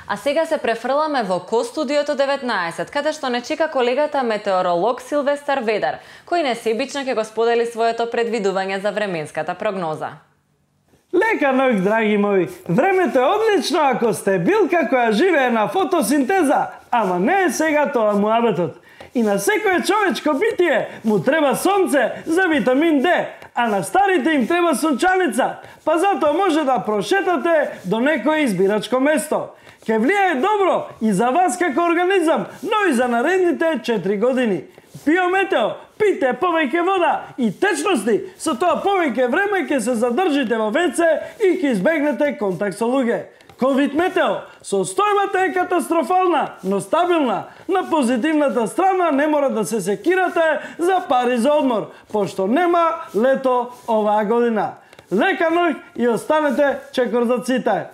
А сега се префрламе во Ко-студиото 19, каде што не чека колегата метеоролог Силвестар Ведар, кој несебично ќе го сподели своето предвидување за временската прогноза. Лека ноќ, драги мои. Времето е одлично ако сте билка која живее на фотосинтеза, ама не е сега тоа муабетот. И на секое човечко битие му треба сонце за витамин Д, а на старите им треба сончаница, па затоа може да прошетате до некое избирачко место. Ке влијае добро и за вас како организам, но и за наредните 4 години. Биометео, пите повеќе вода и течности, со тоа повеќе време ќе се задржите во ВЦ и ќе избегнете контакт со луѓе. Ковид метео, состојбата е катастрофална, но стабилна. На позитивната страна не мора да се секирате за пари за одмор, пошто нема лето оваа година. Лека ноќ и останете чекор за ците.